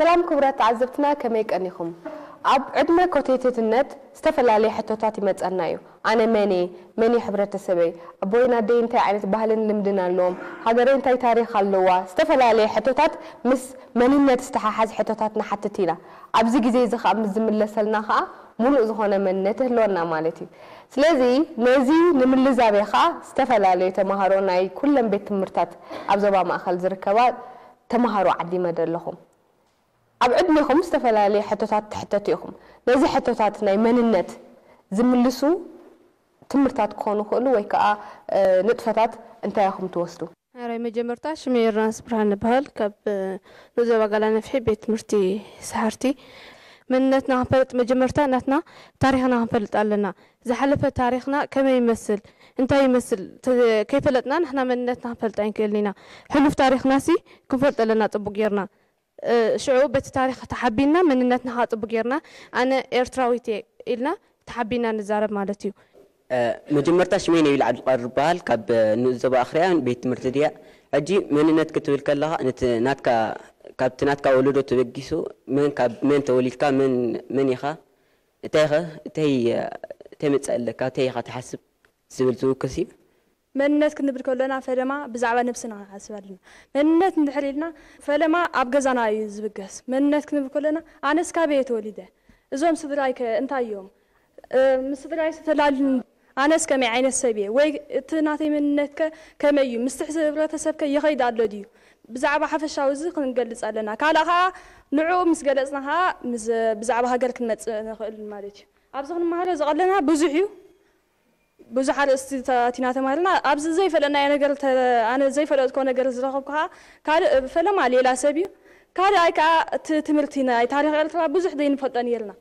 ሰላም ክቡራት ተዓዘብትና፣ ከመይ ቀኒኹም? ኣብ ዕድመ ኮቴትትነት ዝተፈላለየ ሕቶታት ይመጸና እዩ። ኣነ መን እየ? መን እዩ ሕብረተሰበይ? ኣቦይን ኣደይ እንታይ ዓይነት ባህልን ልምድን ኣለዎም? ሃገረይ እንታይ ታሪኽ ኣለዋ? ዝተፈላለየ ሕቶታት ምስ መንነት ዝተሓሓዝ ሕቶታት ንሓትት ኢና። ኣብዚ ግዜ እዚ ኸኣ ምስ ዝምለሰልና ኸኣ ምሉእ ዝኾነ መንነት ይህልወና ማለት እዩ። ስለዚ ነዚ ንምልዛብ እየ ኸኣ ዝተፈላለዩ ተምሃሮ ናይ ኩለን ቤት ትምህርታት ኣብ ዞባ ማእኸል ዝርከባ ተምሃሮ ዓዲመ ዘለኹ። ኣብ ዕድሜኹም ዝተፈላለየ ሕቶታት ትሕተቱ ኢኹም። ነዚ ሕቶታት ናይ መንነት ዝምልሱ ትምህርታት ክኾኑ ይኽእሉ ወይ ከኣ ንጥፈታት እንታይ ኢኹም ትወስዱ? ሕራይ መጀመርታ ሽመይ ዮርዳኖስ ብርሃነ እበሃል። ካብ ንኡስ ዞባ ጋላ ነፍሒ ቤት ትምህርቲ ሰሓርቲ። መንነትና ክንፈልጥ መጀመርታ ናትና ታሪኽና ክንፈልጥ ኣለና። ዝሓለፈ ታሪኽና ከመይ ይመስል፣ እንታይ ይመስል ከይፈለጥና ንሕና መንነትና ክንፈልጥ ኣይንክእልን ኢና። ሕሉፍ ታሪኽናሲ ክንፈልጥ ኣለና ጽቡቕ ጌርና። ሽዑ በቲ ታሪኽ ተሓቢንና መንነትና ከዓ ጽቡቕ ጌርና ኣነ ኤርትራዊት እየ ኢልና ተሓቢንና ንዛረብ ማለት እዩ። መጀመርታ ሽመይ ነቢል ዓብዱልቃድር ይበሃል። ካብ ንኡስ ዞባ ኣኽርያ ቤት ትምህርቲ ድያ። ሕጂ መንነት ክትብል ከለኻ ነቲ ናትካ ካብቲ ናትካ ወለዶ ተበጊሱ መን ካብ መን ተወሊድካ መን መን ኢኻ እንታይ ኸ እንታይ እንታይ መጻኢ ኣለካ እንታይ ኢኻ ትሓስብ ዝብል ዝውክስ እዩ። መንነት ክንብል ከሎና ፈለማ ብዛዕባ ነብስና ክንሓስብ ኣለና። መንነት እንድሕር ኢልና ፈለማ ኣብ ገዛና እዩ ዝብገስ። መንነት ክንብል ከሎና ኣነስ ካበይ እየ ተወሊደ? እዞም ስድራይ ከ እንታይ እዮም? ምስ ስድራይ ዝተላልን ኣነስ ከመይ ዓይነት ሰብ እየ? ወይ እቲ ናተይ መንነት ከ ከመይ እዩ? ምስቲ ሕብረተሰብ ከ ይኸይድ ኣሎ ድዩ? ብዛዕባ ሓፈሻዊ እዚ ክንገልጽ ኣለና። ካልእ ኸዓ ንዕኡ ምስ ገለጽና ኸዓ ብዛዕባ ሃገር ክንመጽእ ንኽእል ማለት እዩ። ኣብዚ ክንመሃሮ ዝቐለና ብዙሕ እዩ። ብዙሕ ኣርእስቲ ኣቲና ተማሂርና ኣብዚ ዘይፈለጥናዮ ነገር ኣነ ዘይፈለጥኮ ነገር ዝረኸብኩ ከዓ ካልእ ፈለማ ሌላ ሰብ እዩ። ካልኣይ ከዓ እቲ ትምህርቲ ናይ ታሪክ ኤርትራ ብዙሕ ዘይንፈልጦ ነይርና።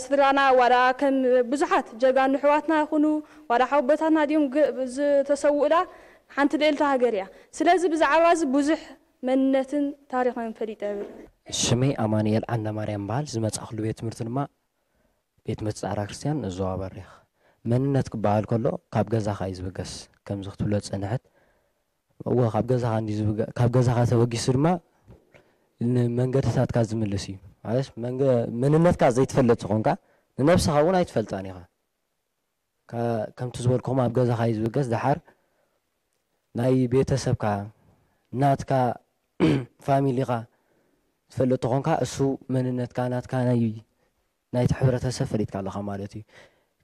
ስድራና ዋላ ከም ብዙሓት ጀጋኑ ኣሕዋትና ይኹኑ ዋላ ሓወቦታትና ድዮም ዝተሰውኡላ ሓንቲ ልእልቲ ሃገር እያ። ስለዚ ብዛዕባ እዚ ብዙሕ መንነትን ታሪኽን ፈሊጠ እብል። ሽመይ ኣማንኤል ዓንደማርያም ይበሃል። ዝመጻእኩሉ ቤት ትምህርቲ ድማ ቤት ትምህርቲ ጻዕዳ ክርስትያን ንኡስ ዞባ በሪኽ። መንነት ክበሃል ከሎ ካብ ገዛኻ እዩ ዝብገስ ከምዚ ክትብሎ ዝጸንሐት። እወ ካብ ገዛኻ እንድዩ ዝብገ ካብ ገዛኻ ተበጊሱ ድማ ንመንገድታትካ ዝምልስ እዩ። ማለት መንገ መንነትካ ዘይትፈልጥ ተኾንካ ንነብስኻ እውን ኣይትፈልጣን ኢኻ። ከ ከምቲ ዝበልኩኹም ኣብ ገዛኻ እዩ ዝብገስ። ደሓር ናይ ቤተሰብካ ናትካ ፋሚሊኻ ትፈልጥ ተኾንካ እሱ መንነትካ ናትካ ናይ ናይቲ ሕብረተሰብ ፈሊጥካ ኣለኻ ማለት እዩ።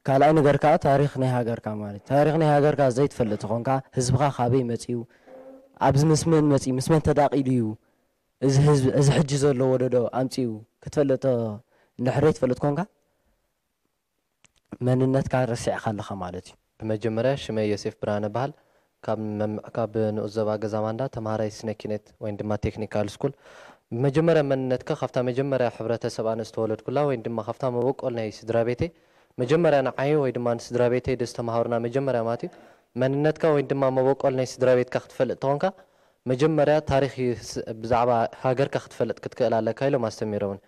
ካልኣይ ነገር ከኣ ታሪኽ ናይ ሃገርካ ማለት እዩ። ታሪኽ ናይ ሃገርካ ዘይትፈልጥ ተኾንካ ህዝብኻ ካበይ መጺኡ ኣብዚ ምስ መን መጺኡ ምስ መን ተዳቒሉ እዩ እዚ ህዝቢ እዚ ሕጂ ዘሎ ወለዶ ኣምጺኡ ክትፈልጥ እንድሕር ዘይትፈልጥ ኮንካ መንነትካ ረሲዕካ ኣለኻ ማለት እዩ። ብመጀመርያ ሽመይ ዮሴፍ ብርሃነ እበሃል። ካብ መም ካብ ንኡስ ዞባ ገዛማንዳ ተምሃራይ ስነ ኪነት ወይም ድማ ቴክኒካል ስኩል። ብመጀመርያ መንነትካ ካብታ መጀመርያ ሕብረተሰብ ኣነ ዝተወለድኩላ ወይም ድማ ካብታ መበቆል ናይ ስድራ ቤተይ መጀመርያ ንዓይ ወይ ድማ ንስድራ ቤተይ ደስተምሃሩና መጀመርያ ማለት እዩ መንነትካ ወይም ድማ መበቆል ናይ ስድራ ቤትካ ክትፈልጥ ተኾንካ መጀመርያ ታሪኽ ብዛዕባ ሃገርካ ክትፈልጥ ክትክእል ኣለካ ኢሎም ኣስተሚሮምኒ።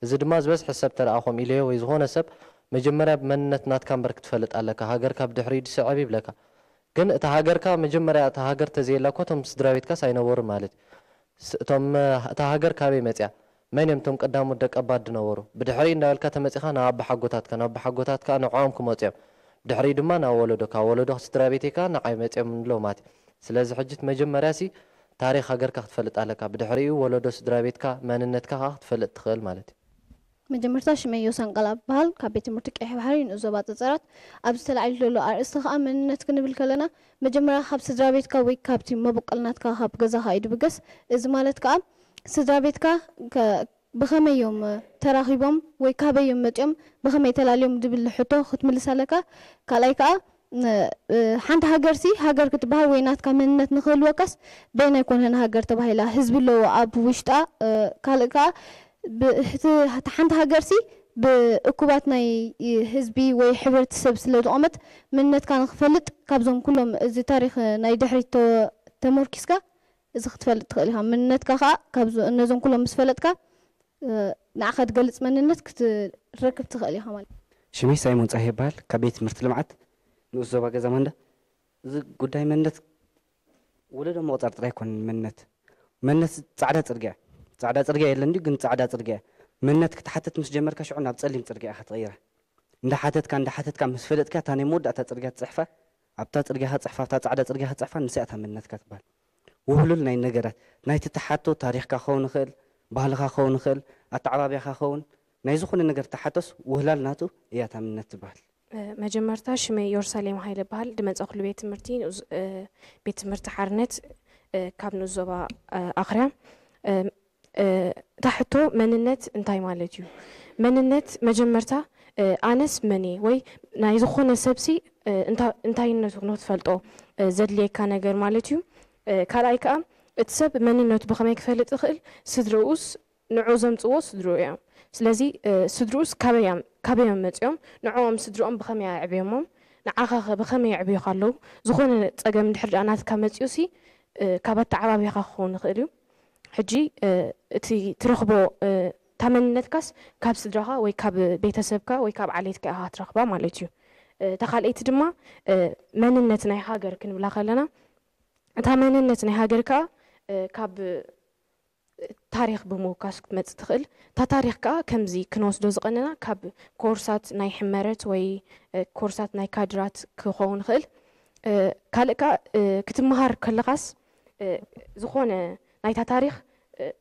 እዚ ድማ ዝበዝሐ ሰብ ተረኣኾም ኢለዮ ወይ ዝኾነ ሰብ መጀመርያ መንነት ናትካ እምበር ክትፈልጥ ኣለካ ሃገርካ ብድሕሪኡ ድስዕብ ይብለካ። ግን እታ ሃገርካ መጀመርያ እታ ሃገር ተዘየላ እኮ እቶም ስድራ ቤትካስ ኣይነበሩን ማለት እዩ። እቶም እታ ሃገር ካበይ መፅያ? መን እዮም እቶም ቀዳሞት ደቀባት ድነበሩ? ብድሕሪኡ እንዳበልካ ተመፂኻ ናብ ኣባሓጎታትካ ናብ ኣባሓጎታት ከዓ ንዕኦም ክመፁ እዮም። ብድሕሪኡ ድማ ናብ ወለዶ ካብ ወለዶ ስድራ ቤተይ ከዓ ንዓይ መፅዮም ንብሎ ማለት እዩ። ስለዚ ሕጂ እቲ መጀመርያ ሲ ታሪኽ ሃገርካ ክትፈልጥ ኣለካ። ብድሕሪኡ ወለዶ ስድራ ቤትካ መንነትካ ከዓ ክትፈልጥ ትኽእል ማለት እዩ። መጀመርታ ሽመይ ዮሳን ቃላ እበሃል ካብ ቤት ትምህርቲ ቀይሕ ባሕሪ ንኡስ ዞባ ጸጸራት። ኣብዚ ተላዒሉ ዘሎ ኣርእስቲ ከኣ መንነት ክንብል ከለና መጀመርያ ካብ ስድራ ቤትካ ወይ ካብቲ መበቆል ናትካ ካብ ገዛኻ እዩ ድብገስ። እዚ ማለት ከኣ ስድራ ቤትካ ብኸመይ እዮም ተራኺቦም ወይ ካበይ እዮም መጺኦም ብኸመይ ተላልዮም ድብል ሕቶ ክትምልስ ኣለካ። ካልኣይ ከኣ ሓንቲ ሃገርሲ ሃገር ክትበሃል ወይ ናትካ መንነት ንክህልወካስ በየናይ ኮነ ንሃገር ተባሂላ ህዝቢ ኣለዎ ኣብ ውሽጣ ካልእ ከኣ እቲ ሓንቲ ሃገርሲ ብእኩባት ናይ ህዝቢ ወይ ሕብረተሰብ ስለ ዝቆመት መንነትካ ንክፈልጥ ካብዞም ኩሎም እዚ ታሪክ ናይ ድሕሪት ተመርኪስካ እዚ ክትፈልጥ ትኽእል ኢኻ። መንነትካ ከኣ ነዞም ኩሎም ምስ ፈለጥካ ንዓኻ ድገልጽ መንነት ክትረክብ ትኽእል ኢኻ ማለት እዩ። ሽመይ ሳይሞን ጸሃየ ይበሃል። ካብ ቤት ትምህርቲ ልምዓት ንኡስ ዞባ ገዛ ማንዳ። እዚ ጉዳይ መንነት ወለዶ ምቑጻር ጥራይ ኣይኮነን። መንነት መንነት ጻዕዳ ጽርግያ ጻዕዳ ጽርግያ የለን ድዩ? ግን ጻዕዳ ጽርግያ እያ። መንነት ክትሓትት ምስ ጀመርካ ሽዑ ናብ ጸሊም ጽርግያ ኢኻ ትቕይራ። እንዳሓተትካ እንዳሓተትካ ምስ ፈለጥካ እታ ናይ መወዳእታ ጽርግያ ትጽሕፋ፣ ኣብታ ጽርግያ ክትጽሕፋ፣ ኣብታ ጻዕዳ ጽርግያ ክትጽሕፋ፣ ንሳ እታ መንነትካ ትበሃል። ውህሉል ናይ ነገራት ናይቲ ትሓቶ ታሪኽካ ክኸውን ይኽእል፣ ባህልኻ ክኸውን ይኽእል፣ ኣተዓባብያኻ ክኸውን ናይ ዝኾነ ነገር ትሓቶስ ውህላል ናቱ እያ እታ መንነት ትበሃል። መጀመርታ ሽመይ ዮርሳሌም ሃይለ በሃል ድመፀ ኩሉ ቤት ትምህርቲ ንኡዝ- ቤት ትምህርቲ ሓርነት ካብ ንኡስ ዞባ ኣኽርያ። እታ ሕቶ መንነት እንታይ ማለት እዩ? መንነት መጀመርታ ኣነስ መን እየ ወይ ናይ ዝኾነ ሰብሲ እንታ- እንታይነቱ ንክትፈልጦ ዘድልየካ ነገር ማለት እዩ። ካልኣይ ከዓ እቲ ሰብ መንነቱ ብኸመይ ክፈልጥ ይኽእል? ስድርኡስ ንዑ ዘምፅዎ ስድርኡ እዮም። ስለዚ ስድርኡስ ካበይ እዮም- ካበይ እዮም መፂኦም? ንዕኦም ስድርኦም ብኸመይ ኣዕብዮሞም? ንዓኻ ኸ ብኸመይ የዕብዩኻ ኣለዉ? ዝኾነ ፀገም እንድሕር ደኣ ናትካ መፂኡ ሲ ካብ ኣተዓባብያኻ ክኸውን ይኽእል እዩ። ሕጂ እቲ ትረኽቦ እታ መንነትካስ ካብ ስድራኻ ወይ ካብ ቤተሰብካ ወይ ካብ ዓሌትካ ኢኻ ትረኽባ ማለት እዩ። እታ ካልኣይቲ ድማ መንነት ናይ ሃገር ክንብላ ከለና እታ መንነት ናይ ሃገር ከዓ ካብ ታሪኽ ብምውካስ ክትመፅእ ትኽእል። እታ ታሪኽ ከዓ ከምዚ ክንወስዶ ዝቐነና ካብ ኮርሳት ናይ ሕመረት ወይ ኮርሳት ናይ ካድራት ክኸውን ይኽእል። ካልእ ከዓ ክትመሃር ከለኻስ ዝኾነ ናይታ ታሪኽ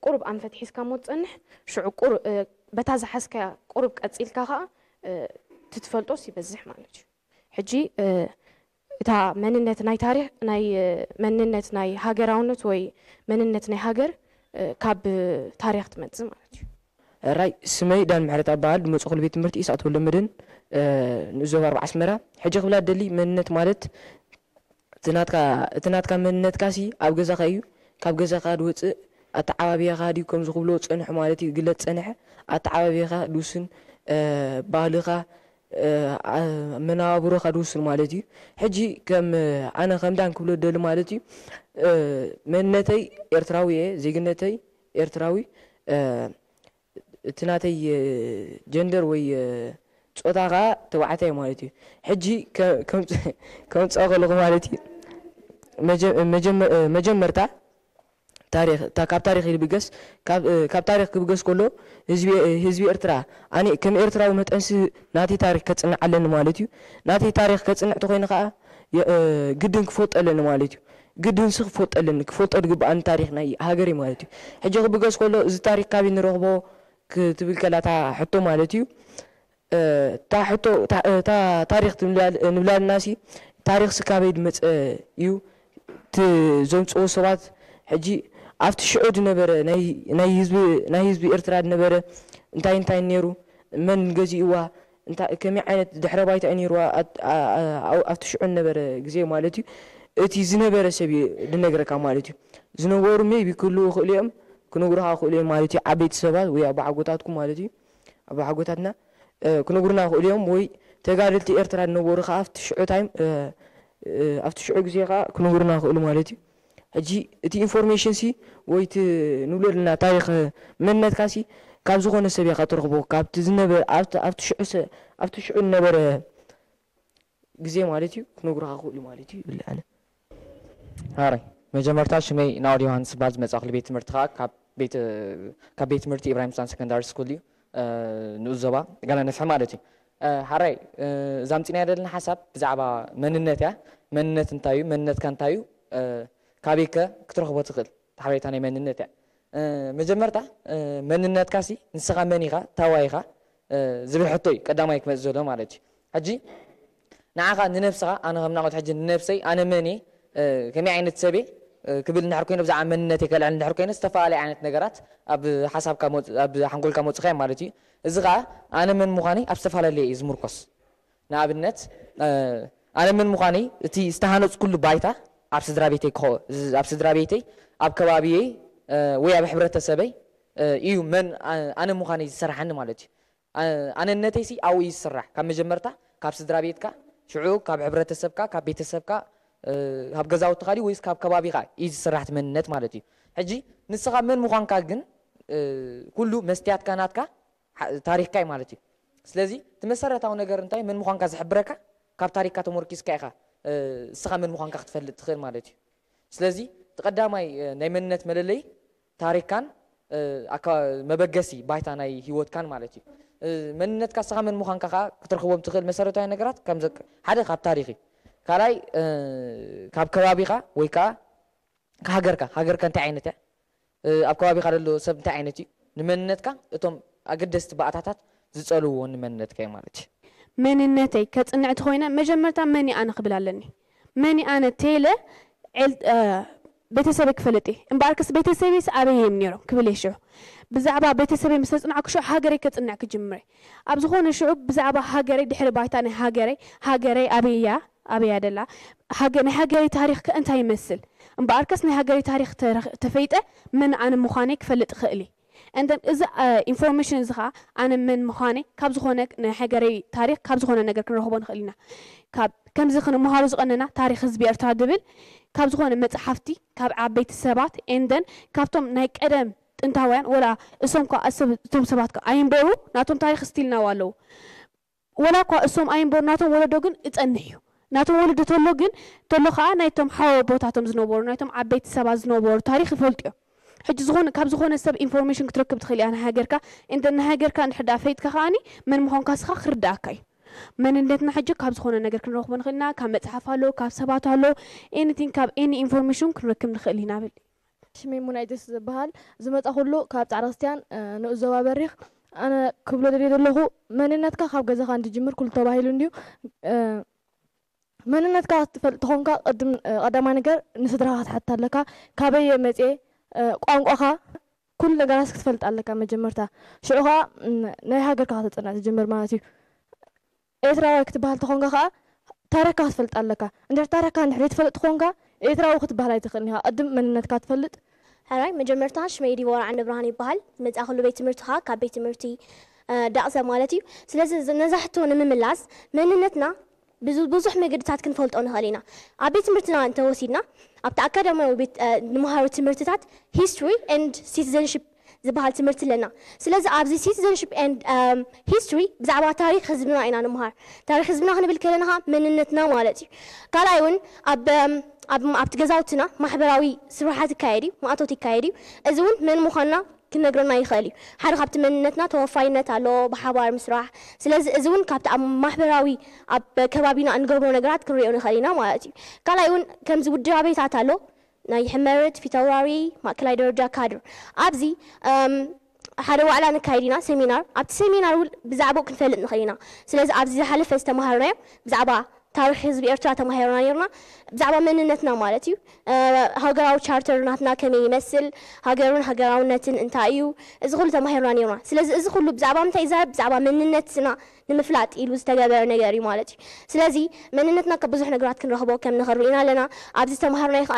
ቁሩብ ኣንፈት ሒዝካ እሞ ትፀንሕ ሽዑ ቁሩብ በታ ዝሓዝካያ ቁሩብ ቀፂልካ ከዓ ትትፈልጦስ ይበዝሕ ማለት እዩ። ሕጂ እታ መንነት ናይ ታሪኽ ናይ መንነት ናይ ሃገራውነት ወይ መንነት ናይ ሃገር ካብ ታሪኽ ትመፅእ ማለት እዩ። ራይ ስመይ ዳን ምሕረት ኣበሃል ድመፅኹሉ ቤት ትምህርቲ ኢሳቅ ተወልደመድህን ንኡስ ዞባ ኣርባዓ ኣስመራ። ሕጂ ክብላ ደሊ መንነት ማለት እቲ ናትካ መንነትካ ሲ ኣብ ገዛኻ እዩ። ካብ ገዛኻ ድወፅእ ኣተዓባብያኻ ድዩ ከምዚ ክብሎ ፀንሑ ማለት እዩ ግለፅ ፀንሐ ኣተዓባብያኻ ድውስን ባህልኻ መነባብሮኻ ድውስን ማለት እዩ። ሕጂ ከም ኣነ ከም ዳን ክብሎ ደሊ ማለት እዩ መንነተይ ኤርትራዊ እየ፣ ዜግነተይ ኤርትራዊ፣ እቲ ናተይ ጀንደር ወይ ፆታ ከዓ ተባዕታይ ማለት እዩ። ሕጂ ከምፅኦ ከለኹ ማለት እዩ መጀመርታ ታሪኽ እታ ካብ ታሪኽ ይብገስ ካብ ታሪኽ ክብገስ ከሎ ህዝቢ ኤርትራ ኣነ ከም ኤርትራዊ መጠንሲ ናተይ ታሪኽ ከፅንዕ ኣለኒ ማለት እዩ። ናተይ ታሪኽ ከፅንዕ ተኮይነ ከዓ ግድን ክፈልጦ ኣለኒ ማለት እዩ። ግድንሲ ክፈልጦ ኣለኒ ክፈልጦ ዝግበኣኒ ታሪኽ ናይ ሃገረይ ማለት እዩ። ሕጂ ክብገስ ከሎ እዚ ታሪኽ ካበይ ንረኽቦ ክትብል ከላ እታ ሕቶ ማለት እዩ። እታ ሕቶ እታ ታሪኽ ንብላልና ሲ ታሪኽሲ ካበይ ዝመፀ እዩ? እቲ ዘምፅዎ ሰባት ሕጂ ኣብቲ ሽዑ ዝነበረ ናይ ህዝቢ ኤርትራ ዝነበረ እንታይ እንታይ ነይሩ? መን ገዚእዋ? ከመይ ዓይነት ድሕረ ባይታ እዩ ነይርዋ? ኣብቲ ሽዑ ዝነበረ ግዜ ማለት እዩ እቲ ዝነበረ ሰብ እዩ ዝነግረካ ማለት እዩ። ዝነበሩ maybe ክህልዉ ይኽእሉ እዮም ክነግሩኻ ይኽእሉ እዮም ማለት እዩ። ዓበይቲ ሰባት ወይ ኣቦሓጎታትኩም ማለት እዩ ኣቦሓጎታትና ክነግሩና ይኽእሉ እዮም ወይ ተጋደልቲ ኤርትራ ዝነበሩ ከዓ ኣብቲ ሽዑ time ኣብቲ ሽዑ ግዜ ከዓ ክነግሩና ይኽእሉ ማለት እዩ። ሕጂ እቲ information ሲ ወይ እቲ ንብሎ ዘለና ታሪኽ መንነትካ ሲ ካብ ዝኾነ ሰብ ኢኻ ትረኽቦ ካብቲ ዝነበረ ኣብቲ ሽዑ ዝነበረ ግዜ ማለት እዩ ክነግሩኻ ይኽእሉ ማለት እዩ ይብል ኣነ። ሃራይ መጀመርታ ሽመይ ናኦድ ዮሃንስ ይበሃል ዝመፃእኩሉ ቤት ትምህርቲ ከዓ ካብ ቤት ትምህርቲ ኢብራሂም ስታን ሰከንዳሪ ስኩል እዩ ንኡስ ዞባ ጋላ ነፍሒ ማለት እዩ። ሓራይ እዛ ኣምፂናያ ዘለና ሓሳብ ብዛዕባ መንነት እያ። መንነት እንታይ እዩ? መንነትካ እንታይ እዩ? ካበይከ ክትረኽቦ ትኽእል? ሓበሬታ ናይ መንነት እያ። መጀመርታ መንነትካ ሲ ንስኻ መን ኢኻ? ታዋይ ኢኻ? ዝብል ሕቶ እዩ ቀዳማይ ክመፅእ ዘሎ ማለት እዩ። ሕጂ ንዓኻ ንነብስኻ ኣነ ከም ናቑት ሕጂ ንነብሰይ ኣነ መን እየ ከመይ ዓይነት ሰብ እየ ክብል እንድሕር ኮይነ ብዛዕባ መንነተይ ከልዕል እንድሕር ኮይነ ዝተፈላለየ ዓይነት ነገራት ኣብ ሓሳብካ ኣብ ሓንጎልካ መፅኻ ማለት እዩ። እዚ ከዓ ኣነ መን ምዃነይ ኣብ ዝተፈላለየ እዩ ዝምርኮስ። ንኣብነት ኣነ መን ምዃነይ እቲ ዝተሃነፅኩሉ ባይታ ኣብ ስድራ ቤተይ ክኸ ኣብ ስድራ ቤተይ ኣብ ከባቢየይ ወይ ኣብ ሕብረተሰበይ እዩ መን ኣነ ምዃነይ ዝሰርሓኒ ማለት እዩ። ኣነነተይሲ ኣብኡ እዩ ዝስራሕ ካብ መጀመርታ ካብ ስድራ ቤትካ ሽዑ ካብ ሕብረተሰብካ ካብ ቤተሰብካ ካብ ገዛውትኻ ድዩ ወይስ ካብ ከባቢኻ እዩ ዝስራሕ እቲ መንነት ማለት እዩ። ሕጂ ንስኻ መን ምዃንካ ግን ኩሉ መስትያትካ ናትካ ታሪኽካ እዩ ማለት እዩ። ስለዚ እቲ መሰረታዊ ነገር እንታይ መን ምዃንካ ዝሕብረካ ካብ ታሪኽካ ተመርኪስካ ኢኻ እስኻ መን ምዃንካ ክትፈልጥ ትኽእል ማለት እዩ። ስለዚ እቲ ቀዳማይ ናይ መንነት መለለዪ ታሪኽካን መበገሲ ባይታ ናይ ህይወትካን ማለት እዩ። መንነትካ ንስኻ መን ምዃንካ ከዓ ክትረኽቦም ትኽእል መሰረታዊ ነገራት ከም ሓደ ካብ ታሪኽ እዩ። ካልኣይ ካብ ከባቢኻ ወይ ከዓ ሃገርካ፣ ሃገርካ እንታይ ዓይነት እያ? ኣብ ከባቢኻ ዘሎ ሰብ እንታይ ዓይነት እዩ? ንመንነትካ እቶም ኣገደስቲ ባእታታት ዝጸልውዎ ንመንነትካ እዩ ማለት እዩ። መንነተይ ከጽንዕ ተኾይነ መጀመርታ መን ኣነ ክብል ኣለኒ። መን ኣነ ቴለ ቤተሰበይ ክፈልጥ እየ። እምበኣርከስ ቤተሰበይስ ኣበይ እዮም ነይሮም ክብል እየ ሽዑ። ብዛዕባ ቤተሰበይ ምስ ተጽናዕኩ ሽዑ ሃገረይ ከጽንዕ ክጅምር እየ። ኣብ ዝኾነ ሽዑ ብዛዕባ ሃገረይ ድሕሪ ባይታ ናይ ሃገረይ፣ ሃገረይ ኣበይ እያ፣ ኣበይ እያ ደላ፣ ናይ ሃገረይ ታሪኽ ከ እንታይ ይመስል? እምበኣርከስ ናይ ሃገረይ ታሪኽ ተፈይጠ መን ኣነ ምዃነይ ክፈልጥ እኽእል እየ። And then እዚ information እዚ ኸዓ ኣነ መን ምዃነይ ካብ ዝኾነ ናይ ሃገረይ ታሪኽ ካብ ዝኾነ ነገር ክንረኽቦ ንኽእል ኢና። ካብ ከምዚ ክንምሃሮ ዝቐነና ታሪኽ ህዝቢ ኤርትራ ድብል ካብ ዝኾነ መጽሓፍቲ ካብ ዓበይቲ ሰባት and then ካብቶም ናይ ቀደም ጥንታውያን ወላ እሶም ኳ እቶም ሰባት ኳ ኣይንበሩ ናቶም ታሪኽ still now ኣለዉ። ወላ እኳ እሶም ኣይንበሩ ናቶም ወለዶ ግን እጸንሕ እዩ። ናቶም ወለዶ ተሎ ግን ተሎ ከዓ ናይቶም ሓወቦታቶም ዝነበሩ ናይቶም ዓበይቲ ሰባት ዝነበሩ ታሪኽ ይፈልጡ እዮም። ሕጂ ዝኾነ ካብ ዝኾነ ሰብ information ክትረክብ ትኽእል እያ ንሃገርካ እንደ ንሃገርካ እንድሕር ደኣ ፈሊጥካ ከዓኒ መን ምዃንካ ስኻ ክርዳእካ እዩ። መንነትና ሕጂ ካብ ዝኾነ ነገር ክንረኽቦ ንኽእል ኢና። ካብ መጽሓፍ ኣሎ፣ ካብ ሰባት ኣሎ፣ anything ካብ any information ክንረክብ ንኽእል ኢና ብል። ሽመይ ሙናይደስ ዝበሃል ዝመጻኹሉ ካብ ጻዕዳ ክርስትያን ንኡስ ዞባ በሪኽ። ኣነ ክብሎ ደልየ ዘለኹ መንነትካ ካብ ገዛኻ እንድጅምር ኩሉ ተባሂሉ እንድዩ። መንነትካ ክትፈልጥ ተኾንካ ቅድም ቀዳማይ ነገር ንስድራኻ ክትሓትት ኣለካ። ካበይ እየ መጽየ፣ ቋንቋኻ፣ ኩሉ ነገራት ክትፈልጥ ኣለካ መጀመርታ። ሽዑ ኸዓ ናይ ሃገርካ ከተጽንዕ ትጅምር ማለት እዩ። ኤርትራዋይ ክትበሃል ተኾንካ ኸዓ ታረካ ክትፈልጥ ኣለካ። እንድሕር ታረካ እንድሕር ዘይትፈልጥ ተኾንካ ኤርትራዊ ክትበሃል ኣይትኽእልን ኢኻ። ቅድም መንነትካ ትፈልጥ። ሕራይ፣ መጀመርታ ሽመይ ዲቦራ ዓንደብርሃን ይበሃል። ዝመጻእክሉ ቤት ትምህርቲ ኸዓ ካብ ቤት ትምህርቲ ዳቕሰ ማለት እዩ። ስለዚ ነዛ ሕቶ ንምምላስ መንነትና ብዙሕ መገድታት ክንፈልጦ ንኽእል ኢና። ኣብ ቤት ትምህርትና እንተወሲድና ኣብቲ ኣካዳሚያዊ ቤት ንመሃሮ ትምህርትታት history and citizenship ዝበሃል ትምህርቲ ኣለና። ስለዚ ኣብዚ citizenship and history ብዛዕባ ታሪኽ ህዝብና ኢና ንምሃር። ታሪኽ ህዝብና ክንብል ከለና ኸዓ መንነትና ማለት እዩ። ካልኣይ እውን ኣብ ኣብቲ ገዛውትና ማሕበራዊ ስራሓት ይካየድ እዩ፣ ማእቶት ይካየድ እዩ። እዚ እውን መን ምዃንና ክነግረና ይኽእል እዩ። ሓደ ካብቲ መንነትና ተወፋይነት ኣሎ፣ ብሓባር ምስራሕ። ስለዚ እዚ እውን ካብቲ ኣብ ማሕበራዊ ኣብ ከባቢና እንገብሮ ነገራት ክንሪኦ ንኽእል ኢና ማለት እዩ። ካልኣይ እውን ከምዚ ውድባቤታት ኣሎ፣ ናይ ሕመርት፣ ፊተውራሪ፣ ማእከላይ ደረጃ ካድር። ኣብዚ ሓደ ዋዕላ ነካይድ ኢና፣ ሴሚናር። ኣብቲ ሴሚናር እውን ብዛዕባኡ ክንፈልጥ ንኽእል ኢና። ስለዚ ኣብዚ ዝሓለፈ ዝተምሃርናዮ ብዛዕባ ታሪኽ ህዝቢ ኤርትራ ተማሂርና ነይርና። ብዛዕባ መንነትና ማለት እዩ። ሃገራዊ ቻርተር ናትና ከመይ ይመስል፣ ሃገርን ሃገራውነትን እንታይ እዩ፣ እዚ ኩሉ ተማሂርና ነይርና። ስለዚ እዚ ኩሉ ብዛዕባ ምንታይ ይዛረብ? ብዛዕባ መንነትና ንምፍላጥ ኢሉ ዝተገበረ ነገር እዩ ማለት እዩ። ስለዚ መንነትና ካብ ብዙሕ ነገራት ክንረኽቦ ከም ንኽእል ርኢና ኣለና። ኣብዚ ዝተምሃርናዮ ከኣ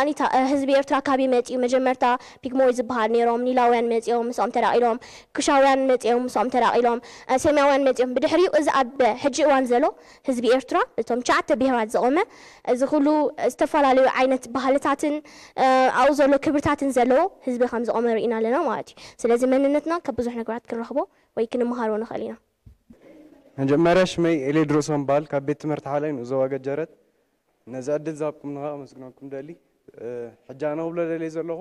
ህዝቢ ኤርትራ ካበይ መጺኡ፣ መጀመርታ ፒግሞይ ዝበሃል ነይሮም፣ ኒላውያን መጺኦም ምስኦም ተዳቒሎም፣ ኩሻውያን መጺኦም ምስኦም ተዳቒሎም፣ ሴማውያን መጺኦም። ብድሕሪኡ እዚ ኣብ ሕጂ እዋን ዘሎ ህዝቢ ኤርትራ እቶም ትሽዓተ ብሄራት ዘቖመ እዚ ኩሉ ዝተፈላለዩ ዓይነት ባህልታትን ኣብኡ ዘሎ ክብርታትን ዘለዎ ህዝቢ ከም ዝቖመ ርኢና ኣለና ማለት እዩ። ስለዚ መንነትና ካብ ብዙሕ ነገራት ክንረኽቦ ወይ ክንመሃሮ ንኽእል ኢና። መጀመርያ ሽመይ ኤሌድሮስ እምበሃል ካብ ቤት ትምህርቲ ሓላይ ንኡስ ዞባ ገጀረት ነዚ ዕድል ዝሃብኩምኒ ከዓ ከመስግነኩም ደሊ። ሕጂ ኣነ ክብሎ ደልየ ዘለኹ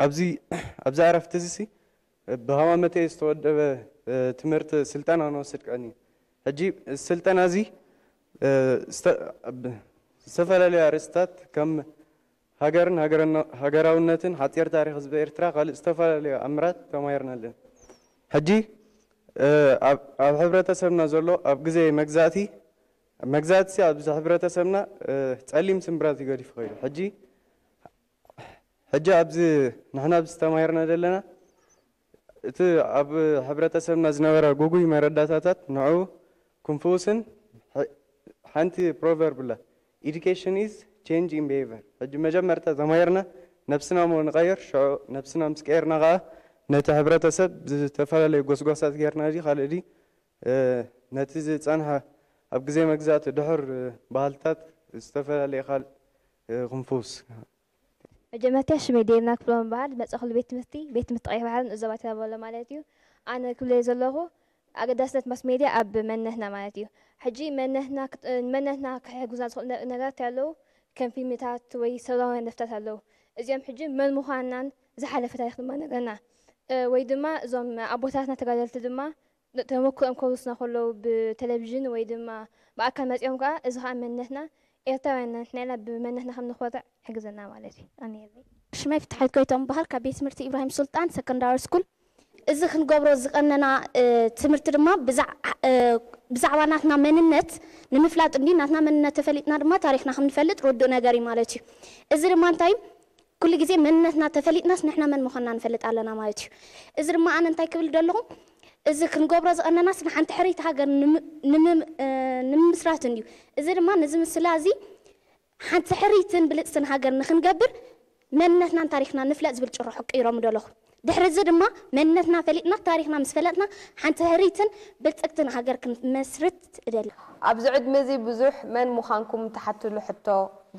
ኣብዚ ኣብዚ ዕረፍቲ እዚ ሲ ብሃማመተይ ዝተወደበ ትምህርቲ ስልጠና ንወስድ ቀኒ። ሕጂ እዚ ስልጠና እዚ ዝተፈላለዩ ኣርእስታት ከም ሃገርን ሃገራውነትን፣ ሓፂር ታሪኽ ህዝቢ ኤርትራ፣ ካልእ ዝተፈላለዩ ኣምራት ተማሂርና ኣለና። ሕጂ ኣብ ሕብረተሰብና ዘሎ ኣብ ግዜ መግዛእቲ መግዛእቲ ኣብዚ ሕብረተሰብና ፀሊም ስምብራት እዩ ገዲፉ ከይዱ። ሕጂ ሕጂ ኣብዚ ንሕና ኣብዚ ተማሂርና ዘለና እቲ ኣብ ሕብረተሰብና ዝነበረ ጉጉይ መረዳታታት ንዑ ክንፍውስን ሓንቲ proverb ኣላ education is change in behavior። ሕጂ መጀመርታ ተማሂርና ነብስና ሞ ንቀይር፣ ሽዑ ነብስና ምስ ቀየርና ከዓ ነቲ ሕብረተሰብ ዝተፈላለዩ ጎስጓሳት ጌርና ድዩ ካልእ ድዩ ነቲ ዝጸንሐ ኣብ ግዜ መግዛእቲ ድሑር ባህልታት ዝተፈላለየ ካልእ ክንፍውስ። መጀመርታ ሽመይ ዴና ክፍሎም እበሃል። ዝመጸእኩሉ ቤት ትምህርቲ ቤት ትምህርቲ ቀይሕ ባሕሪ ንኡስ ዞባ ቴራ ቦሎ ማለት እዩ። ኣነ ክብለዮ ዘለኹ ኣገዳስነት ማስ ሜድያ ኣብ መንነትና ማለት እዩ። ሕጂ መንነትና መንነትና ክሕግዙና ዝኽእሉ ነገራት ኣለዉ። ከም ፊልምታት ወይ ሰብኣውያን ደፍታት ኣለዉ። እዚኦም ሕጂ መን ምዃንናን ዝሓለፈ ታሪኽ ድማ ነግረና። እ፣ ወይ ድማ እዞም ኣቦታትና ተጋደልቲ ድማ ን-፣ ተመክሮኦም ከውርስና ከለዉ ብቴሌቪዥን ወይ ድማ ብኣካል መጺኦም ከኣ፣ እዚ ከኣ መንነትና ኤርትራውያን ንሕና ኢና፣ ብመንነትና ከም ንኾርዕ ይሕግዘና ማለት እዩ። ኣነ የለይ። ሽመይ ፍትሓዊት ጎይትኦም እበሃል፣ ካብ ቤት ትምህርቲ ኢብራሂም ሱልጣን ሰከንዳሪ ስኩል። እዚ ክንገብሮ ዝቐነና፣ እ፣ ትምህርቲ ድማ ብዛዕ-፣ እ፣ ብዛዕባ ናትና መንነት ንምፍላጥ እንዲ፣ ናትና መንነት ተፈሊጥና ድማ ታሪኽና ከም ንፈልጥ ርዱእ ነገር እዩ ማለት እዩ። እዚ ድማ እንታይ፣ ኩሉ ግዜ መንነትና ተፈሊጥናስ ንሕና መን ምዃንና ንፈልጥ ኣለና ማለት እዩ። እዚ ድማ ኣነ እንታይ ክብል ደለኹ፣ እዚ ክንገብሮ ዝቐነናስ ንሓንቲ ሕርይቲ ሃገር ንም-፣ ንምም-፣ እ፣ ንምምስራት እንድዩ። እዚ ድማ ነዚ ምስላ እዚ ሓንቲ ሕርይትን ብልጽትን ሃገር ንኽንገብር መንነትናን ታሪኽና ንፍለጥ ዝብል ጭርሖ ቀይሮም ደለኹ። ድሕሪ እዚ ድማ መንነትና ፈሊጥና ታሪኽና ምስ ፈለጥና ሓንቲ ሕርይትን ብልጽግትን ሃገር ክንመስርት እደሊ። ኣብዚ ዕድመ እዚ ብዙሕ መን ምዃንኩም ትሓትሉ ሕቶ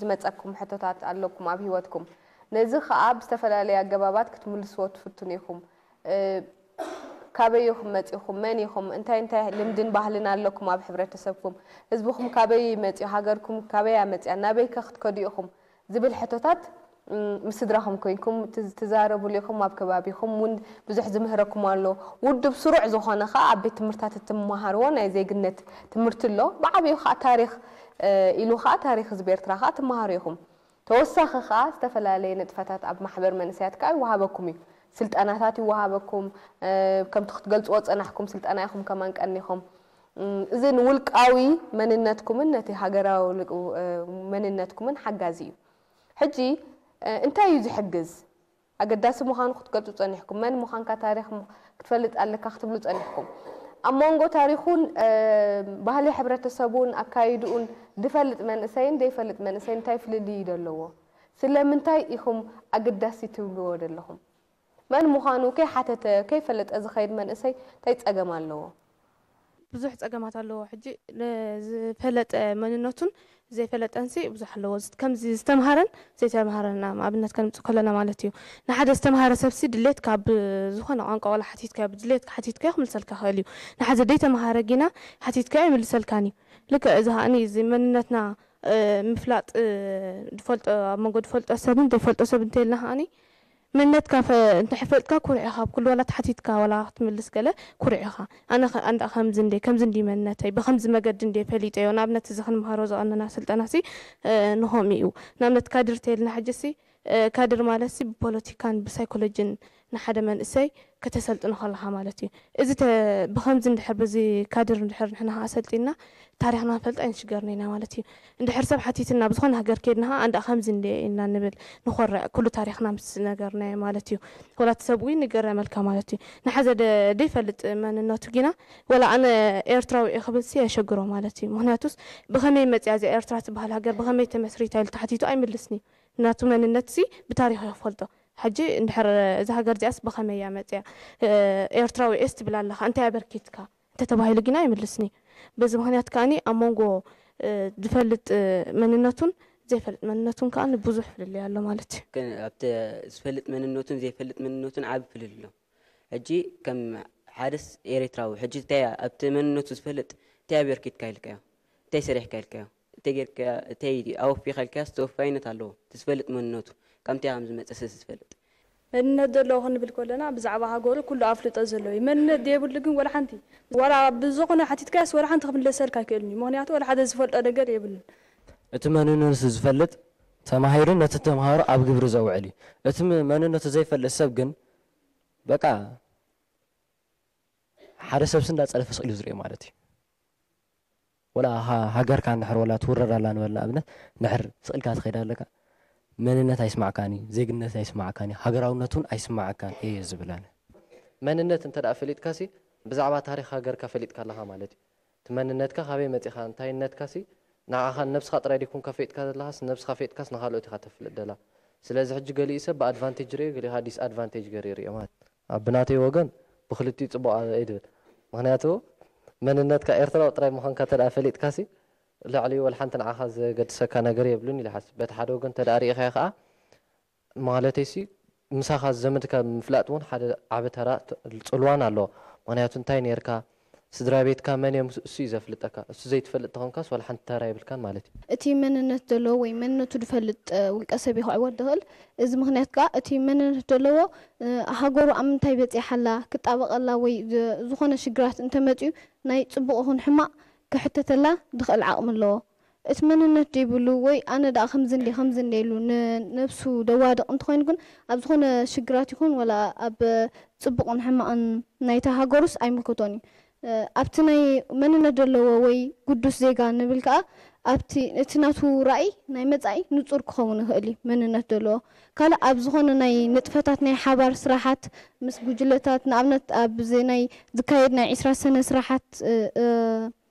ዝመጸኩም ሕቶታት ኣለኩም ኣብ ህይወትኩም። ነዚ ኸኣ ብዝተፈላለየ ኣገባባት ክትምልስዎ ትፍትኑ ኢኹም። እ፣ ካበይ ኢኹም መጺኹም? መን ኢኹም? እንታይ እንታይ ልምድን ባህልን ኣለኩም ኣብ ሕብረተሰብኩም? ህዝብኹም ካበይ መጺኡ? ሃገርኩም ካበይ እያ መጺኣ? ናበይ ከ ክትከዱ ኢኹም? ዝብል ሕቶታት፣ እም፣ ምስ ስድራኹም ኮይንኩም ትዝ-፣ ትዛረቡሉ ኢኹም። ኣብ ከባቢኹም እውን ብዙሕ ዝምህረኩም ኣሎ። ውድብ ስሩዕ ዝኾነ ኸኣ ኣብ ቤት ትምህርታት እትመሃርዎ ናይ ዜግነት ትምህርቲ ኣሎ። ብዓብዩ ኸኣ ታሪኽ፣ እ፣ ኢሉ ኸኣ ታሪኽ ህዝቢ ኤርትራ ኸኣ ትመሃሩ ኢኹም። ተወሳኺ ኸኣ ዝተፈላለየ ንጥፈታት ኣብ ማሕበር መንእሰያት ከኣ ይወሃበኩም እዩ። ስልጠናታት ይወሃበኩም። እ፣ ከምቲ ክትገልጽዎ ጸናሕኩም ስልጠና ኢኹም ከማን ቀኒኹም። እም፣ እዚ ንውልቃዊ መንነትኩምን ነቲ ሃገራዊ ልቅ-፣ እ፣ መንነትኩምን ሓጋዚ እዩ። ሕጂ፣ እ፣ እንታይ እዩ ዝሕግዝ? ኣገዳሲ ምዃኑ ክትገልጹ ጸኒሕኩም። መን ምዃንካ ታሪኽ ም-፣ ክትፈልጥ ኣለካ ክትብሉ ጸኒሕኩም። ኣብ መንጎ ታሪኹን፣ እ፣ ባህሊ ሕብረተሰቡን ኣካይድኡን ዝፈልጥ መንእሰይን ዘይፈልጥ መንእሰይን እንታይ ፍልልይ እዩ ዘለዎ? ስለምንታይ ኢኹም ኣገዳሲ ትብልዎ ዘለኹም? መን ምዃኑ ከይሓተተ፣ ከይፈለጠ ዝኸይድ መንእሰይ እንታይ ጸገም ኣለዎ? ብዙሕ ጸገማት ኣለዎ። ሕጂ ንዝፈለጠ መንነቱን ዘይፈለጠንሲ ብዙሕ ኣለዎ። ዝት-፣ ከምዚ ዝተምሃረን ዘይተምሃረን ኣብ ኣብነት ከነምጽእ ከለና ማለት እዩ። ንሓደ ዝተምሃረ ሰብሲ ድሌትካ ኣብ ዝኾነ ቋንቋ ዋላ ሓቲትካዮ፣ ብድሌትካ ሓቲትካዮ ክምልሰልካ ይኽእል እዩ። ንሓደ ዘይተምሃረ ጊና ሓቲትካዮ ኣይምልሰልካን እዩ። ልክዕ እዚ ከኣኒ እዚ መንነትና፣ እ፣ ምፍላጥ፣ እ፣ ዝፈልጦ፣ ኣብ መንጎ ዝፈልጦ ሰብን ዘይፈልጦ ሰብ እንተይልና ከኣኒ መንነትካ ፈ-፣ እንተ ፈለጥካ ኩሩዕ ኢኻ። ኣብ ኩሉ ዋላ ተሓቲትካ ዋላ ክትምልስ ገለ ኩሩዕ ኢኻ። ኣነ ኸ-፣ ኣንዳ ከምዚ እንዴ፣ ከምዚ እንዲ መንነተይ፣ ብኸምዚ መገዲ እንዴ ፈሊጠዮ። ንኣብነት እዚ ክንምሃሮ ዝቐነና ስልጠናሲ፣ እ፣ ንኸምኡ እዩ። ንኣብነት ካድር ተይልና ሕጂሲ፣ እ፣ ካድር ማለትሲ ብፖለቲካን ብሳይኮሎጂን ንሓደ መንእሰይ ከተሰልጥኖ ከለኻ ማለት እዩ። እዚ ተ-፣ ብኸምዚ እንድሕር በዚ ካድር እንድሕር ንሕና ከኣ ሰልጢንና ታሪኽና ንፈልጥ ኣይንሽገርን ኢና ማለት እዩ። እንድሕር ሰብ ሓቲትና ብዝኾነ ሃገር ከይድና ከኣ ኣንዳ ከምዚ እንደ ኢና ንብል ንኾርዕ፣ ኩሉ ታሪኽና ምስ ነገርናዮ ማለት እዩ። ወላ እቲ ሰብ እውን ይገረመልካ ማለት እዩ። ንሓዘ ደ-፣ ደይፈልጥ መንነቱ ጊና ወላ ኣነ ኤርትራዊ እየ ክብልሲ የሸግሮ ማለት እዩ። ምኽንያቱስ ብኸመይ መጽያ እዚኣ ኤርትራ ትበሃል ሃገር ብኸመይ ተመስሪታ ኢሉ ተሓቲቱ ኣይምልስን እዩ። ናቱ መንነትሲ ብታሪኽ እየ ክፈልጦ። ሕጂ እንድሕር እዛ ሃገር እዚኣስ ብኸመይ እያ መጽያ? እ፣ ኤርትራዊ እየስ ትብል ኣለኻ፣ እንታይ ኣበርኪትካ? እንተተባሂሉ ግና ኣይምልስን እዩ። በዚ ምኽንያት ከኣኒ ኣብ መንጎ፣ እ፣ ዝፈልጥ፣ እ፣ መንነቱን ዘይፈልጥ መንነቱን ከኣ ብዙሕ ፍልልይ ኣሎ ማለት እዩ። ግን ኣብቲ ዝፈልጥ መንነቱን ዘይፈልጥ መንነቱን ዓቢ ፍልልይ ኣሎ። ሕጂ ከም ሓደስ ኤርትራዊ፣ ሕጂ እንታይ ኣብቲ መንነቱ ዝፈልጥ እንታይ ኣበርኪትካ ኢልካዮ? እንታይ ሰሪሕካ ኢልካዮ? እንታይ ጌርካ፣ እንታይ ኣወፊኻ ኢልካዮስ ተወፋይነት ኣለዎ። እቲ ዝፈልጥ መንነቱ፣ ካብ ምንታይ ከም ዝመጸ ስለ ዝፈልጥ። መንነት ዘለዎ ክንብል ከለና ብዛዕባ ሃገሩ ኩሉ ኣፍልጦ ዘለዎ እዩ። መንነት ዘይብሉ ግን ወላ ሓንቲ፣ ዋላ ብዝኾነ ሓቲትካዮስ ወላ ሓንቲ ክምለሰልካ ኣይክእልን እዩ። ምኽንያቱ ወላ ሓደ ዝፈልጦ ነገር የብሉን። እቲ መንነቱ ዝፈልጥ ተማሂሩ ነቲ ተምሃሮ ኣብ ግብሪ ዘውዕል እዩ። እቲ ም-፣ መንነቱ ዘይፈልጥ ሰብ ግን በቃ ሓደ ሰብሲ እንዳጸለፈ ስቕ ኢሉ ዝርእዮ ማለት እዩ። ወላ ሃ-፣ ሃገርካ እንድሕር ወላ ትውረር ኣላ ንበል ንኣብነት፣ እንድሕር ስቕ ኢልካ ትኸይድ ኣለካ፣ መንነት ኣይስማዕካን እዩ፣ ዜግነት ኣይስማዕካን እዩ፣ ሃገራውነት እውን ኣይስማዓካን እየ ዝብል ኣነ። መንነት እንተ ደኣ ፈሊጥካሲ፣ ብዛዕባ ታሪኽ ሃገርካ ፈሊጥካ ኣለኻ ማለት እዩ። እቲ መንነትካ ካበይ መጺኻ፣ እንታይነትካሲ፣ ንዓኻ ንነብስኻ ጥራይ ደይኮንካ ፈሊጥካ ዘለኻስ፣ ንነብስኻ ፈሊጥካስ ንኻልኦት ኢኻ ተፍልጥ ደላ። ስለዚ ሕጂ ገሊኡ ሰብ ብኣድቫንቴጅ ይርእዮ፣ ገሊኡ ዲስኣድቫንቴጅ ገይሩ ይርእዮ ማለት እዩ። ኣብ ብናተይ ወገን ብክልቲኡ ጽቡቕ እየ ድብል። ምኽንያቱ መንነትካ ኤርትራዊ ጥራይ ምዃንካ እንተ ደኣ ፈሊጥካሲ፣ ልዕሊ ወላ ሓንቲ ንዓኻ ዘገድሰካ ነገር የብሉን ኢለ ይሓስብ። በቲ ሓደ ወገን እንተ ደኣ ርኢኻዮ ከኣ፣ ማለተይሲ ምሳኻ ዝዘመድካ ምፍላጥ እውን ሓደ ዓቢ ተራ ት-፣ ጽልዋን ኣለዎ። ምኽንያቱ እንታይ ኔርካ፣ ስድራ ቤትካ መን እዮም እሱ እዩ ዘፍልጠካ። እሱ ዘይትፈልጥ ተኾንካስ ዋላ ሓንቲ ተራ የብልካን ማለት እዩ። እቲ መንነት ዘለዎ ወይ መንነቱ ዝፈልጥ ውልቀ ሰብ እዩ ክዕወት ዝኽእል። እዚ ምኽንያት ከዓ እቲ መንነት ዘለዎ ሃገሩ ኣብ ምንታይ በፂሓላ ክጣበቐላ ወይ ዝኾነ ሽግራት እንተመፅኡ ናይ ፅቡቕ ይኹን ሕማቕ ክሕተተላ ዝኽእል ዓቕሚ ኣለዎ። እቲ መንነት ዘይብሉ ወይ ኣነ ደኣ ከምዚ እንዲ ከምዚ እንዲ ኢሉ ንነብሱ ደዋድቕ እንተኾይኑ ግን ኣብ ዝኾነ ሽግራት ይኹን ወላ ኣብ ፅቡቕን ሕማቕን ናይታ ሃገሩስ ኣይምልከቶን እዩ። ኣብቲ ናይ መንነት ዘለዎ ወይ ግዱስ ዜጋ ንብል ከዓ ኣብቲ እቲ ናቱ ራእይ ናይ መፃኢ ንፁር ክኸውን ይኽእል እዩ። መንነት ዘለዎ ካልእ ኣብ ዝኾነ ናይ ንጥፈታት ናይ ሓባር ስራሓት ምስ ጉጅለታት ንኣብነት ኣብዚ ናይ ዝካየድ ናይ ዒስራ ሰነ ስራሓት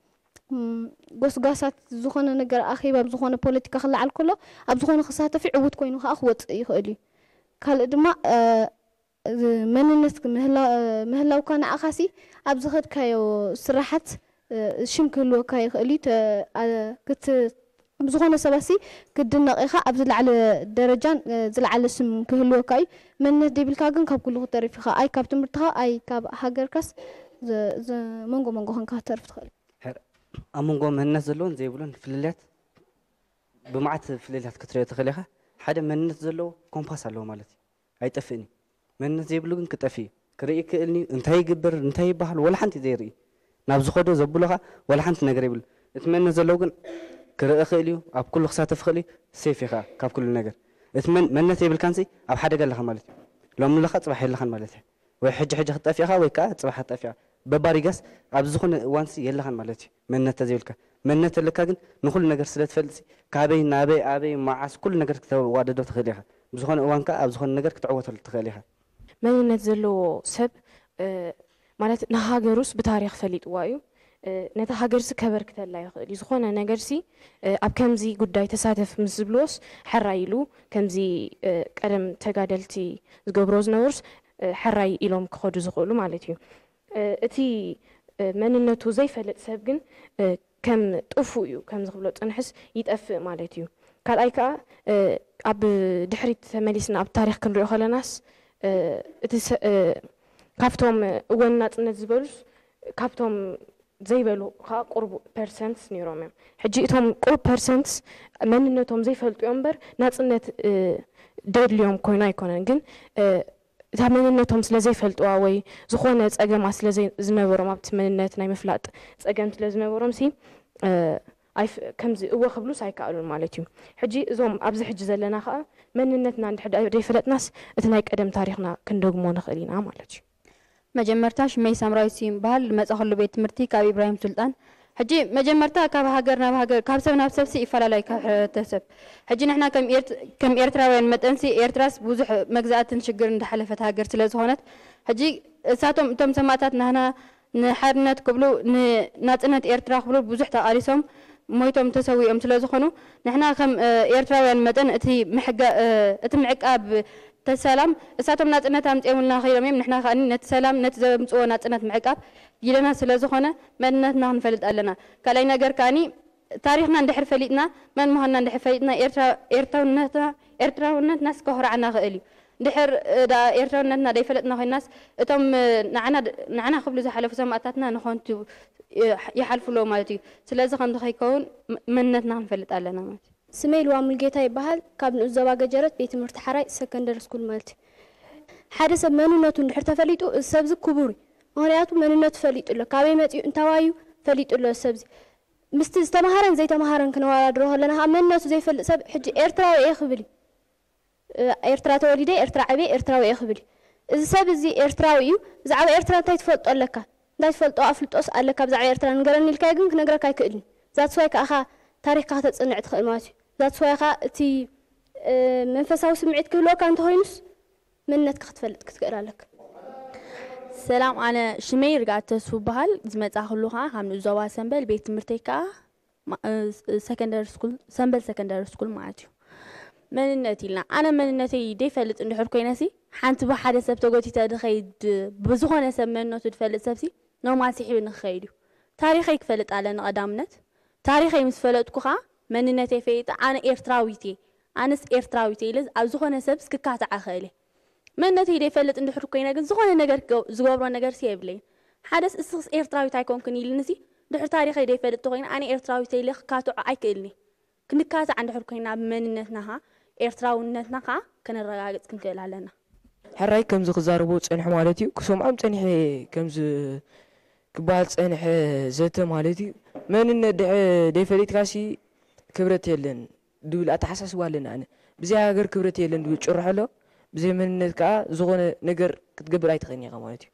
ጎስጓሳት ዝኾነ ነገር ኣኼባ ኣብ ዝኾነ ፖለቲካ ክለዓል ከሎ ኣብ ዝኾነ ክሳተፍ ዕዉት ኮይኑ ከዓ ክወፅእ ይኽእል እዩ። ካልእ ድማ መንነት ምህላውካ ንኣኻሲ ኣብ ዝኸድካዮ ስራሓት ሽም ክህልወካ ይኽእል እዩ። ብዝኾነ ሰባሲ ክትድነቕ ኢኻ። ኣብ ዝለዓለ ደረጃን ዝለዓለ ስም ክህልወካ እዩ። መንነት ዘይብልካ ግን ካብ ኩሉ ክተርፍ ኢኻ። ኣይ ካብ ትምህርትኻ ኣይ ካብ ሃገርካስ መንጎ መንጎ ኮንካ ክትተርፍ ትኽእል። ኣብ መንጎ መንነት ዘለዎን ዘይብሉን ፍልልያት ብመዓት ፍልልያት ክትሪኦ ትኽእል ኢኻ። ሓደ መንነት ዘለዎ ኮምፓስ ኣለዎ ማለት እዩ። ኣይጠፍእን እዩ። መንነት ዘይብሉ ግን ክጠፍእ እዩ። ክርኢ ይክእልኒ እንታይ ይግበር እንታይ ይበሃል ወላ ሓንቲ ዘይርኢ ናብ ዝኸዶ ዘብሎ ከዓ ወላ ሓንቲ ነገር ይብሉ። እቲ መንነት ዘለዎ ግን ክርኢ ይኽእል እዩ። ኣብ ኩሉ ክሳተፍ ይኽእል እዩ። ሴፍ እዩ ከዓ ካብ ኩሉ ነገር። እቲ መንነት የብልካንሲ ኣብ ሓደጋ ኣለኻ ማለት እዩ። ሎሚ ኣለኻ ፅባሕ የለኻን ማለት እዩ። ወይ ሕጂ ሕጂ ክትጠፍእኻ ወይ ከዓ ፅባሕ ክትጠፍእኻ። በባሪጋስ ኣብ ዝኾነ እዋንሲ የለኻን ማለት እዩ። መንነት ተዘይብልካ መንነት ኣለካ ግን ንኹሉ ነገር ስለ ትፈልጥሲ ካበይ ናበይ ኣበይ መዓስ ኩሉ ነገር ክተዋደዶ ትኽእል ኢኻ። ብዝኾነ እዋን ከዓ ኣብ ዝኾነ ነገር ክትዕወተሉ ትኽእል ኢኻ። መንነት ዘለዎ ሰብ ማለት ንሃገሩስ ብታሪኽ ፈሊጥዋ እዩ። ነታ ሃገርሲ ከበርክተላ ይኽእል እዩ። ዝኾነ ነገርሲ ኣብ ከምዚ ጉዳይ ተሳተፍ ምስ ዝብልዎስ ሕራይ ኢሉ ከምዚ ቀደም ተጋደልቲ ዝገብርዎ ዝነበሩስ ሕራይ ኢሎም ክኸዱ ዝኽእሉ ማለት እዩ። እቲ መንነቱ ዘይፈልጥ ሰብ ግን ከም ጥፉእ እዩ ከም ዝኽብሎ ፅንሕስ ይጠፍእ ማለት እዩ። ካልኣይ ከዓ ኣብ ድሕሪት ተመሊስና ኣብ ታሪኽ ክንሪኦ ከለናስ እቲ ካብቶም እወን ናፅነት ዝበሉስ ካብቶም ዘይበሉ ከዓ ቁሩብ ፐርሰንትስ ነይሮም እዮም። ሕጂ እቶም ቁሩብ ፐርሰንትስ መንነቶም ዘይፈልጡ እዮም እምበር ናፅነት ደድልዮም ኮይኑ ኣይኮነን። ግን እታ መንነቶም ስለ ዘይፈልጥዋ ወይ ዝኾነ ፀገማት ስለ ዝነበሮም ኣብቲ መንነት ናይ ምፍላጥ ፀገም ስለ ዝነበሮም ሲ ከምዚ እወ ክብሉስ ኣይከኣሉን ማለት እዩ። ሕጂ እዞም ኣብዚ ሕጂ ዘለና ከዓ መንነትና እንድሕር ደይፈለጥናስ እቲ ናይ ቀደም ታሪኽና ክንደግሞ ንኽእል ኢና ማለት እዩ። መጀመርታ ሽመይ ሳምራዊት ስዩም በሃል ዝመፃኹሉ ቤት ትምህርቲ ካብ ኢብራሂም ሱልጣን ሕጂ መጀመርታ ካብ ሃገር ናብ ሃገር ካብ ሰብ ናብ ሰብሲ ይፈላለዩ ካብ ሕብረተሰብ ሕጂ ንሕና ከም ኤርትራውያን መጠንሲ ኤርትራስ ብዙሕ መግዛእትን ሽግር እንዳሓለፈት ሃገር ስለ ዝኾነት ሕጂ እሳቶም እቶም ሰማእታት ናህና ንሓርነት ክብሉ ንናፅነት ኤርትራ ክብሉ ብዙሕ ተቓሊሶም ሞይቶም ተሰዊኦም ስለ ዝኾኑ ንሕና ከም ኤርትራውያን መጠን እቲ ምዕቃብ ተሰላም እሳቶም ናፅነት ኣምፅኦምልና ከይዶም እዮም ንሕና ከኣ ነቲ ሰላም ነቲ ዘምፅዎ ናፅነት ምዕቃብ ጊደና ስለ ዝኾነ መንነትና ክንፈልጥ ኣለና ካልኣይ ነገር ከኣኒ ታሪኽና እንድሕር ፈሊጥና መን ምዃንና እንድሕር ፈሊጥና ኤርትራውነትና ኤርትራውነትና ስከኹርዓና ክእል እዩ እንድሕር ደኣ ኤርትራውነትና ደይፈለጥና ኮይናስ እቶም ንዓና ክብሉ ዝሓለፉ ሰማእታትና ንኾንቱ ይሓልፉ ኣለዉ ማለት እዩ ስለዚ ከምዚ ከይከውን መንነትና ክንፈልጥ ኣለና ማለት እዩ ስመይ ልዋ ሙልጌታ ይበሃል። ካብ ንኡስ ዞባ ገጀረት ቤት ትምህርቲ ሓራይ ሰከንደሪ ስኩል ማለት እዩ። ሓደ ሰብ መንነቱ እንድሕር ተፈሊጡ እዚ ሰብዚ ክቡር እዩ። ምኽንያቱ መንነቱ ፈሊጡ ኣሎ። ካበይ መፂኡ እንታዋዩ ፈሊጡ ኣሎ እዚ ሰብዚ። ምስቲ ዝተምሃረን ዘይተምሃረን ክነወዳድሮ ከለና ከዓ መንነቱ ዘይፈልጥ ሰብ ሕጂ ኤርትራዊ እየ ክብል እዩ። ኤርትራ ተወሊደ ኤርትራ ዓብየ ኤርትራዊ እየ ክብል እዩ። እዚ ሰብ እዚ ኤርትራዊ እዩ። ብዛዕባ ኤርትራ እንታይ ትፈልጦ ኣለካ? እንታይ ትፈልጦ ኣፍልጦስ ኣለካ ብዛዕባ ኤርትራ ንገረኒ ኢልካዮ ግን ክነግረካ ኣይክእልን እዩ። That's why ከኣ ታሪኽካ ከተጽንዕ ትኽእል ማለት እዩ። That's why ከኣ እቲ መንፈሳዊ ስምዒት ክህልወካ እንተኾይኑስ መንነትካ ክትፈልጥ ክትክእል ኣለካ። ሰላም ኣነ ሽመይ ርግኣት ተስፉ በሃል ዝመጻእክሉ ከኣ ካብ ንኡስ ዞባ ሰምበል ቤት ትምህርተይ ከኣ ሰንበል ሰከንደሪ ስኩል ማለት እዩ መንነት ኢልና ኣነ መንነተይ ደይፈልጥ እንድሕር ኮይነሲ ሓንቲ ብሓደ ሰብ ተጎቲተ ድኸይድ ብዝኾነ ሰብ መንነቱ ድፈልጥ ሰብሲ ኖርማል ስሒቡ ንክኸይድ እዩ ታሪኸይ ክፈልጥ ኣለኒ ቀዳምነት ታሪኸይ ምስ ፈለጥኩ ከዓ መንነተይ ፈሊጠ ኣነ ኤርትራዊት እየ ኣነስ ኤርትራዊት እየ ኢለ ኣብ ዝኾነ ሰብስ ክካታዕ እኽእል እየ መንነተይ ደይፈልጥ እንድሕር ኮይነ ግን ዝኾነ ነገር ዝገብሮ ነገርሲ የብለይን ሓደስ እስኽስ ኤርትራዊት ኣይኮንክን ኢልንሲ ድሕሪ ታሪኸይ ዘይፈልጥ ተኾይነ ኣነ ኤርትራዊት ኢለ ክካትዖ ኣይክእልኒ። ክንካታዕ እንድሕር ኮይና ብመንነትና ኸዓ ኤርትራውነትና ኸዓ ከነረጋግጽ ክንክእል ኣለና። ሕራይ ከምዚ ክዛረቦ ጸንሑ ማለት እዩ። ክሰምዖም ጸኒሐ ከምዚ ክበሃል ጸንሐ ዘተ ማለት እዩ። መንነት ድሕ-፣ ደይፈሊጥካሲ ክብረት የለን ድብል ኣተሓሳስባ ኣለኒ ኣነ። ብዘይ ሃገር ክብረት የለን ድብል ጭርሖ ኣሎ። ብዘይ መንነት ከኣ ዝኾነ ነገር ክትገብር ኣይትኽእልን ኢኻ ማለት እዩ።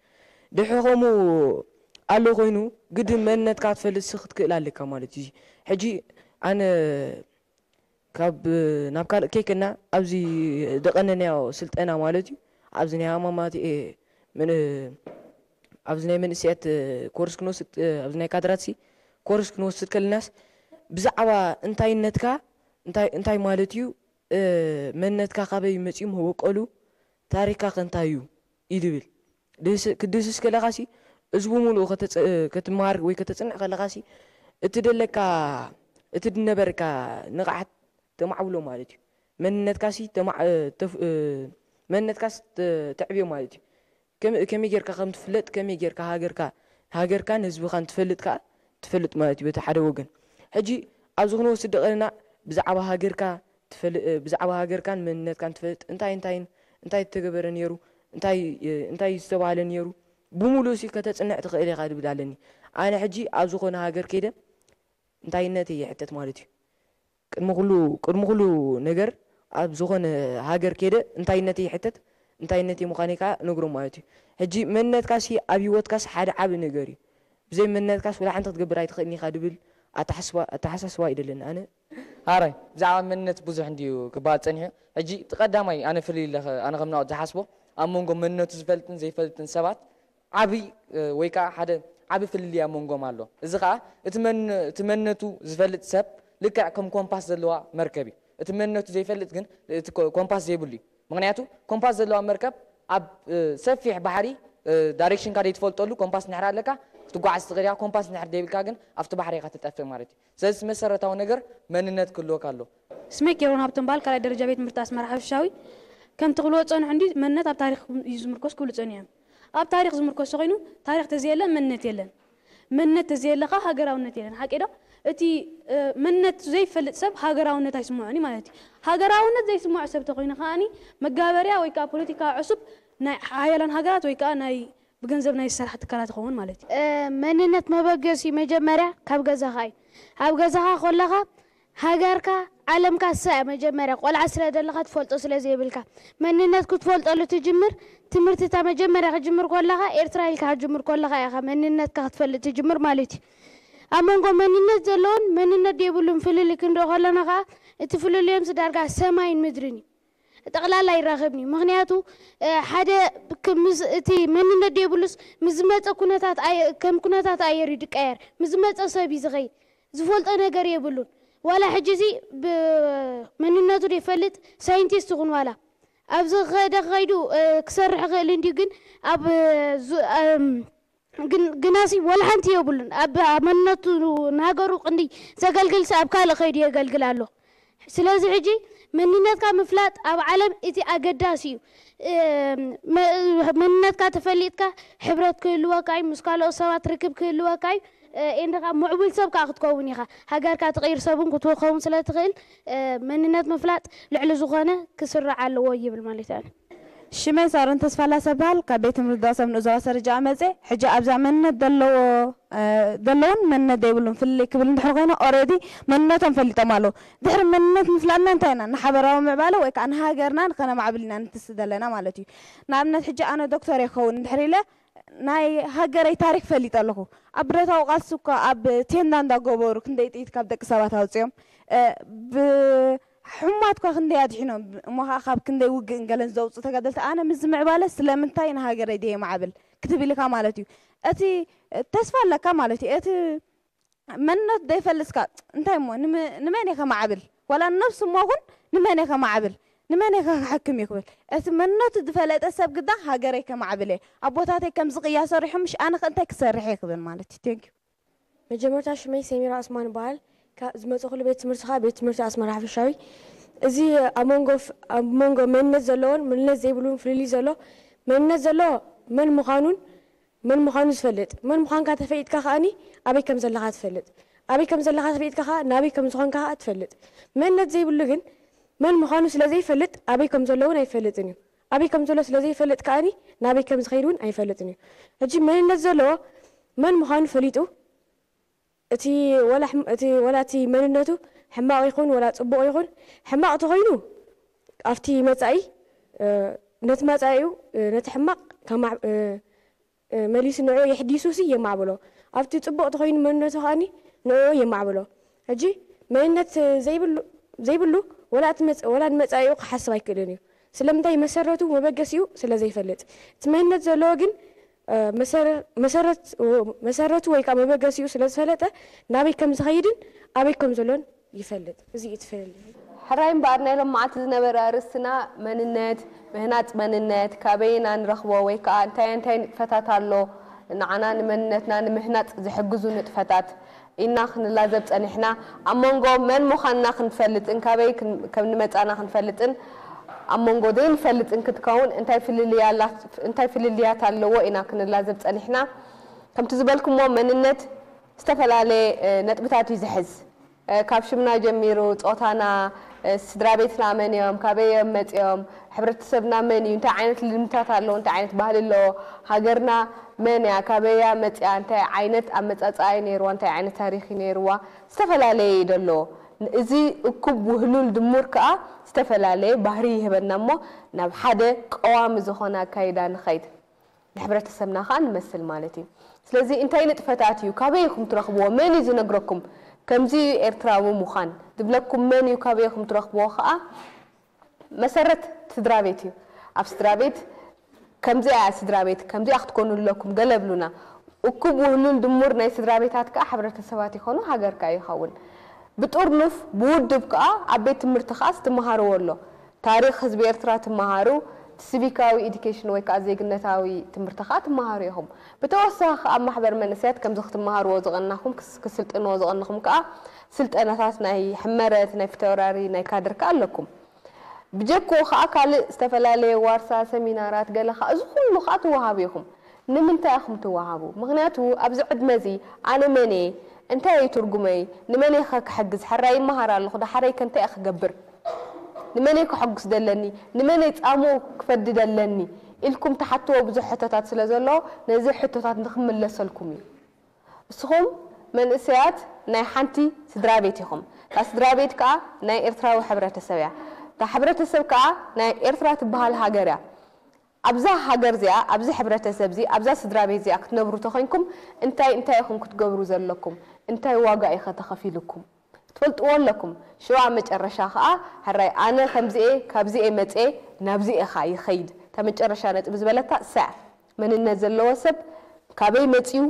ድሕሪ ከምኡ ኣሎ ኮይኑ ግድን መንነትካ ክትፈልጥሲ ክትክእል ኣለካ ማለት እዩ። ሕጂ ኣነ ካብ ናብ ካልእ ከይከድና ኣብዚ ደቐነናዮ ስልጠና ማለት እዩ። ኣብዚ ናይ ኣማማት፣ እ፣ ምን-፣ ኣብዚ ናይ መንእሰያት፣ እ፣ ኮርስ ክንወስድ፣ እ፣ ኣብዚ ናይ ካድራትሲ ኮርስ ክንወስድ ከለናስ ብዛዕባ እንታይነትካ እንታይ፣ እንታይ ማለት እዩ፣ እ፣ መንነትካ ካበይ መጺኡ መበቆሉ፣ ታሪኽካ ከ እንታይ እዩ እዩ ዝብል። ድህስ-፣ ክትድህስስ ከለኻሲ እዚ ብምሉኡ ከተጸ-፣ እ፣ ክትመሃር ወይ ከተጽንዕ ከለኻሲ እቲ ደለካ፣ እቲ ድነበረካ ንቕሓት ተማዕብሎ ማለት እዩ። መንነትካሲ ተማ-፣ እ፣ ተፍ-፣ እ፣ መንነትካስ ተ-፣ ተዕብዮ ማለት እዩ። ከመ-፣ ከመይ ጌርካ ከም ትፍለጥ፣ ከመይ ጌርካ ሃገርካ፣ ሃገርካን ህዝብኻን ትፈልጥ ከኣ ትፈልጥ ማለት እዩ በቲ ሓደ ወገን። ሕጂ ኣብዚ ክንወስድ ደቐና ብዛዕባ ሃገርካ ትፈል-፣ እ፣ ብዛዕባ ሃገርካን መንነትካን ትፈልጥ፣ እንታይ እንታይን፣ እንታይ ተገበረ ነይሩ፣ እንታይ፣ እ፣ እንታይ ዝተባህለ ነይሩ፣ ብምሉእሲ ከተጽንዕ ትኽእል ኢኻ ዝብል ኣለኒ። ኣነ ሕጂ ኣብ ዝኾነ ሃገር ከይደ እንታይነተይ ይሕተት ማለት እዩ። ቅድሚ ኩሉ፣ ቅድሚ ኩሉ ነገር ኣብ ዝኾነ ሃገር ከይደ እንታይነተይ ይሕተት፣ እንታይነተይ ምዃነይ ከኣ እነግሮም ማለት እዩ። ሕጂ መንነትካሲ ኣብ ህይወትካስ ሓደ ዓቢ ነገር እዩ። ብዘይ መንነትካስ ወላ ሓንቲ ክትገብር ኣይትኽእልን ኢኻ ድብል ኣተሓስባ-፣ ኣተሓሳስባ እዩ ደለኒ ኣነ። ኣራይ፣ ብዛዕባ መንነት ብዙሕ እንድዩ ክበሃል ጸኒሑ። ሕጂ እቲ ቀዳማይ ኣነ ፍልይ ኢለ ኸ-፣ ኣነ ከም ናኦድ ዝሓስቦ፣ ኣብ መንጎ መንነቱ ዝፈልጥን ዘይፈልጥን ሰባት ዓቢ፣ እ፣ ወይ ከኣ ሓደ ዓቢ ፍልልይ ኣብ መንጎም ኣሎ። እዚ ኸኣ እቲ መን-፣ እቲ መንነቱ ዝፈልጥ ሰብ ልክዕ ከም ኮምፓስ ዘለዋ መርከብ እዩ። እቲ መንነቱ ዘይፈልጥ ግን እቲ ኮ-፣ ኮምፓስ ዘይብሉ እዩ። ምኽንያቱ ኮምፓስ ዘለዋ መርከብ ኣብ፣ እ፣ ሰፊሕ ባሕሪ፣ እ፣ ዳይሬክሽንካ ዘይትፈልጠሉ ኮምፓስ እንድሕር ኣለካ ክትጓዓዝ ትኽእል ኢኻ። ኮምፓስ እንድሕር ዘይብልካ ግን ኣብቲ ባሕሪ ኢኻ ትጠፍእ ማለት እዩ። ስለዚ መሰረታዊ ነገር መንነት ክህልወካ ኣሎ። ስመይ ኬሮን ሃብቶም በሃል፣ ካልኣይ ደረጃ ቤት ትምህርቲ ኣስመራ ሓፈሻዊ። ከምቲ ክብልዎ ዝጸንሑ እንዲ መንነት ኣብ ታሪኽ እዩ ዝምርኮስ ክብሉ ጸኒሖም። ኣብ ታሪኽ ዝምርኮስ ተኾይኑ ታሪኽ ተዘየለ መንነት የለን። መንነት ተዘየለ ከኣ ሃገራውነት የለን። ሓቂ ዶ? እቲ፣ እ፣ መንነት ዘይፈልጥ ሰብ ሃገራውነት ኣይስምዖን እዩ ማለት እዩ። ሃገራውነት ዘይስምዖ ሰብ ተኾይኑ ከኣኒ መጋበርያ ወይ ከኣ ፖለቲካዊ ዕሱብ ናይ ሓያላን ሃገራት ወይ ከኣ ናይ ብገንዘብ ናይ ዝሰርሓ ትካላት ይኸውን ማለት እዩ። እ፣ መንነት መበገሲ መጀመርያ ካብ ገዛኻ እዩ። ኣብ ገዛኻ ከለኻ ሃገርካ፣ ዓለምካ እሳ እያ መጀመርያ። ቆልዓ ስለ ዘለኻ ትፈልጦ ስለ ዘይብልካ። መንነት ክትፈልጠሉ ትጅምር፣ ትምህርቲ እታ መጀመርያ ክጅምር ከለኻ፣ ኤርትራ ኢልካ ክጅምር ከለኻ ኢኻ መንነትካ ክትፈልጥ ትጅምር ማለት እዩ። ኣብ መንጎ መንነት ዘለዎን መንነት ዘይብሉን ፍልልይ ክንሪኦ ከለና ከኣ፣ እቲ ፍልልዮምስ ዳርጋ ሰማይን ምድርን እዩ። ጠቕላላ ኣይራኸብን እዩ። ምኽንያቱ፣ እ፣ ሓደ ክ-፣ ምስ እቲ መንነት ዘይብሉስ ምስ ዝመጸ ኩነታት ኣየ-፣ ከም ኩነታት ኣየር እዩ ዝቀየር። ምስ ዝመጸ ሰብ እዩ ዝኸይድ። ዝፈልጦ ነገር የብሉን። ዋላ ሕጂ እዚ ብ-፣ መንነቱ ዘይፈልጥ ሳይንቲስት ይኹን ዋላ ኣብዚ ከደ ከይዱ፣ እ፣ ክሰርሕ ይኽእል እንድዩ፣ ግን ኣብ፣ እ፣ ዙ-፣ እም፣ ግን-፣ ግናሲ ወላ ሓንቲ የብሉን። ኣብ፣ ኣብ መንነቱ ንሃገሩ ቅንዲ ዘገልግልሲ ኣብ ካልእ ከይዱ የገልግል ኣሎ። ስለዚ ሕጂ መንነትካ ምፍላጥ ኣብ ዓለም እቲ ኣገዳሲ እዩ። እም፣ መ-፣ መንነትካ ተፈሊጥካ ሕብረት ክህልወካ እዩ፣ ምስ ካልኦት ሰባት ርክብ ክህልወካ እዩ። እ፣ ኤንድ ከኣ ምዕቡል ሰብ ከኣ ክትከውን ኢኻ። ሃገርካ ትቕይር ሰብ እውን ክትኸውን ስለ ትኽእል፣ እ፣ መንነት ምፍላጥ ልዕሊ ዝኾነ ክስራዕ ኣለዎ ይብል ማለት እዩ። ሽመይ ሳሮን ተስፋላሰ እበሃል። ካብ ቤት ትምህርቲ ዳሰብ ንኡዛዊ ኣሰረጃ መጽእ። ሕጂ ኣብዛ መንነት ዘለዎ፣ እ፣ ዘለውን መንነት ዘይብሉን ፍልልይ ክብል እንድሕር ኮይነ፣ ኦሬዲ መንነቶም ፈሊጦም ኣለዉ። ድሕሪ መንነት ምፍላጥና እንታይ ኢና? ንሓበራዊ ምዕባለ ወይ ከኣ ንሃገርና ንኸነማዕብል ኢና ንትስ ዘለና ማለት እዩ። ንኣብነት ሕጂ ኣነ ዶክተር እየ ክኸውን እንድሕር ኢለ ናይ ሃገረይ ታሪኽ ፈሊጠ ኣለኹ። ኣብ ብረታዊ ቃልሲ እኳ ኣብ ቴንዳ እንዳገበሩ ክንደይ ጥይት ካብ ደቂ ሰባት ኣውፅኦም። እ፣ ብ-፣ ሕሙማት እኳ ክንደይ ኣድሒኖም። እሞ ኸዓ ካብ ክንደይ ውግእን ገለን ዘውፅኡ ተጋደልቲ። ኣነ ምስ ዝምዕባለ ስለምንታይ ንሃገረይ ድየ ማዕብል ክትብል ኢኻ ማለት እዩ። እቲ ተስፋ ኣለካ ማለት እዩ። እቲ መንነት ዘይፈልጥካ እንታይ እሞ ንመ-፣ ንመን እየ ከማዕብል? ዋላ ነብሱ እሞ እውን ንመን እየ ከማዕብል? ንመን እየ ከሕክም እዩ ክብል? እቲ መንነቱ ዝፈለጠ ሰብ ግዳ ሃገረይ ከማዕብል እየ። ኣቦታተይ ከምዚ ቅያ ሰሪሖም፣ ምሽ ኣነ ከ እንታይ ክሰርሕ እየ ክብል ማለት እዩ። Thank you። መጀመርታ ሽመይ ሰሚራ ዑስማን እበሃል። ካብ ዝመጽእኩሉ ቤት ትምህርቲ ከኣ ቤት ትምህርቲ ኣስመራ ሓፈሻዊ። እዚ ኣብ መንጎ ፍ-፣ ኣብ መንጎ መንነት ዘለዎን መንነት ዘይብሉን ፍልልይ ዘሎ፣ መንነት ዘለዎ መን ምዃኑን መን ምዃኑ ዝፈልጥ፣ መን ምዃንካ ተፈሊጥካ ከኣኒ ኣበይ ከም ዘለኻ ትፈልጥ፣ ኣበይ ከም ዘለኻ ተፈሊጥካ ከኣ ናበይ ከም ዝኾንካ ከኣ ትፈልጥ። መንነት ዘይብሉ ግን መን ምዃኑ ስለ ዘይፈልጥ ኣበይ ከም ዘሎ እውን ኣይፈልጥን እዩ። ኣበይ ከም ዘሎ ስለ ዘይፈልጥ ከኣኒ ናበይ ከም ዝኸይድ እውን ኣይፈልጥን እዩ። ሕጂ መንነት ዘለዎ መን ምዃኑ ፈሊጡ እቲ ወላ ሕም- እቲ ወላ እቲ መንነቱ ሕማቕ ይኹን ወላ ጽቡቕ ይኹን፣ ሕማቕ ተኾይኑ ኣብቲ መጻኢ፣ እ፣ ነቲ መጻኢኡ፣ እ፣ ነቲ ሕማቕ ከማዕ- እ፣ እ፣ መሊሱ ንዕኡ የሕዲሱሲ የማዕብሎ። ኣብቲ ጽቡቕ ተኾይኑ መንነቱ ከኣኒ ንዕኡ የማዕብሎ። ሕጂ መንነት ዘይብሉ ዘይብሉ ወላ እቲ መጽ- ወላ ንመጻኢኡ ክሓስብ ኣይክእልን እዩ። ስለምንታይ? መሰረቱ መበገሲኡ ስለ ዘይፈልጥ። እቲ መንነት ዘለዎ ግን፣ እ፣ መሰረ- መሰረት- መሰረቱ ወይ ከዓ መበገሲኡ ስለ ዝፈለጠ ናበይ ከም ዝኸይድን ኣበይ ከም ዘሎን ይፈልጥ። እዚ እዩ እቲ ፍልልይ። ሕራይ እምበኣር ናይ ሎማዓንቲ ዝነበረ ኣርእስትና መንነት፣ ምህናጽ መንነት፣ ካበይ ኢና ንረኽቦ ወይ ከዓ እንታይ እንታይ ንጥፈታት ኣሎ ንዓና ንመንነትና ንምህናጽ ዝሕግዙ ንጥፈታት ኢልና ክንላዘብ ጸኒሕና። ኣብ መንጎ መን ምዃንና ክንፈልጥን ካበይ ክን- ከም ንመጻና ክንፈልጥን ኣብ መንጎ ዘይንፈልጥን ክትከውን እንታይ ፍልልያ ኣላ- እንታይ ፍልልያት ኣለዎ ኢና ክንላዘብ ጸኒሕና። ከምቲ ዝበልኩሞ መንነት ዝተፈላለየ፣ እ፣ ነጥብታት እዩ ዝሕዝ። እ፣ ካብ ሽምና ጀሚሩ፣ ጾታና፣ እ፣ ስድራ ቤትና መን እዮም፣ ካበይ እዮም መጺኦም፣ ሕብረተሰብና መን እዩ፣ እንታይ ዓይነት ልምድታት ኣለዎ፣ እንታይ ዓይነት ባህሊ ኣለዎ፣ ሃገርና መን እያ፣ ካበይ እያ መጺኣ፣ እንታይ ዓይነት ኣመጻጽኣ እዩ ነይርዋ፣ እንታይ ዓይነት ታሪኽ እዩ ነይርዋ፣ ዝተፈላለየ እዩ ደሎ። እዚ እኩብ ውህሉል ድሙር ከኣ ዝተፈላለየ ባህሪ ይህበና እሞ ናብ ሓደ ቀዋሚ ዝኾነ ኣካይዳ ንኸይድ። ንሕብረተሰብና ከኣ ንመስል ማለት እዩ። ስለዚ እንታይ ንጥፈታት እዩ፣ ካበይ ኢኹም ትረኽብዎ፣ መን እዩ ዝነግረኩም፣ ከምዚ እዩ ኤርትራዊ ምዃን ዝብለኩም መን እዩ፣ ካበይ ኢኹም ትረኽብዎ ከኣ መሰረት ስድራ ቤት እዩ። ኣብ ስድራ ቤት ከምዚኣ እያ ስድራ ቤት፣ ከምዚኣ ክትኮኑ ኣለኩም ገለ ብሉና። እኩብ ውህሉል ድሙር ናይ ስድራ ቤታት ከኣ ሕብረተሰባት ይኾኑ፣ ሃገር ከኣ ይኸውን። ብጥርኑፍ ብውድብ ከኣ ኣብ ቤት ትምህርቲ ከኣ ዝትመሃርዎ ኣሎ። ታሪኽ ህዝቢ ኤርትራ ትመሃሩ፣ እቲ ሲቪካዊ ኢዱኬሽን ወይ ከኣ ዜግነታዊ ትምህርቲ ከኣ ትመሃሩ ኢኹም። ብተወሳኺ ከኣ ኣብ ማሕበር መንእሰያት ከምዚ ክትመሃርዎ ዝቐናኹም፣ ክስ- ክስልጥንዎ ዝቐንኹም ከኣ ስልጠናታት ናይ ሕመረት፣ ናይ ፊተውራሪ፣ ናይ ካድር ከኣ ኣለኩም። ብጀክኡ ከኣ ካልእ ዝተፈላለየ ዋርሳ፣ ሰሚናራት፣ ገለ ከኣ እዚ ኩሉ ከኣ ትወሃቡ ኢኹም። ንምንታይ ኢኹም ትወሃቡ? ምኽንያቱ ኣብዚ ዕድመ እዚ ኣነ መን እየ? እንታይ እዩ ትርጉመይ? ንመን እየ ከ ክሕግዝ? ሕራይ ይመሃር ኣለኹ፣ ዳሕረይ ከ እንታይ እየ ክገብር? ንመን እየ ከሐጉስ ደለኒ? ንመን እየ ጻምኡ ክፈዲ ደለኒ? ኢልኩም ትሓትዎ ብዙሕ ሕቶታት ስለ ዘሎ ነዚ ሕቶታት ንክምለሰልኩም እዩ። እስኹም መንእሰያት ናይ ሓንቲ ስድራ ቤት ኢኹም። እታ ስድራ ቤት ከኣ ናይ ኤርትራዊ ሕብረተሰብ እያ። እታ ሕብረተሰብ ከኣ ናይ ኤርትራ ትበሃል ሃገር እያ። ኣብዛ ሃገር እዚኣ፣ ኣብዚ ሕብረተሰብ እዚ፣ ኣብዛ ስድራ ቤት እዚኣ ክትነብሩ ተኾይንኩም እንታይ እንታይ ኢኹም ክትገብሩ ዘለኩም? እንታይ ዋጋ እዩ ከተኸፊልኩም? ትፈልጥዎ ኣለኩም። ሽዋ መጨረሻ ከኣ ሕራይ ኣነ ከምዚኤ ካብዚኤ መጽኤ ናብዚኤ ከኣ ይኸይድ። እታ መጨረሻ ነጥቢ ዝበለታ እሳ እያ። መንነት ዘለዎ ሰብ ካበይ መጽዩ፣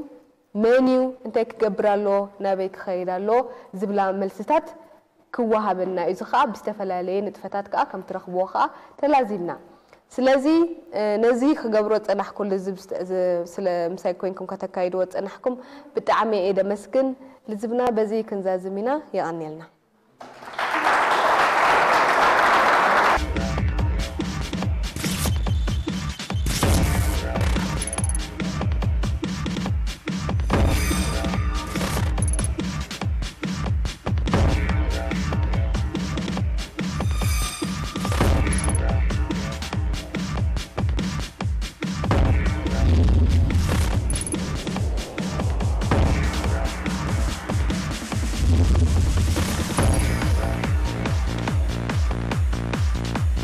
መን እዩ፣ እንታይ ክገብር ኣለዎ፣ ናበይ ክኸይድ ኣለዎ ዝብላ መልስታት ክወሃበና እዩ። እዚ ከኣ ብዝተፈላለየ ንጥፈታት ከኣ ከም ትረኽብዎ ከኣ ተላዚብና። ስለዚ፣ እ፣ ነዚ ክገብሮ ዝጸናሕኩ ልዝብ ዝተ- ዝ- ስለ ምሳይ ኮይንኩም ከተካይድዎ ዝጸናሕኩም ብጣዕሚ እየ ደመስግን። ልዝብና በዚ ክንዛዝም ኢና። የቐንየልና።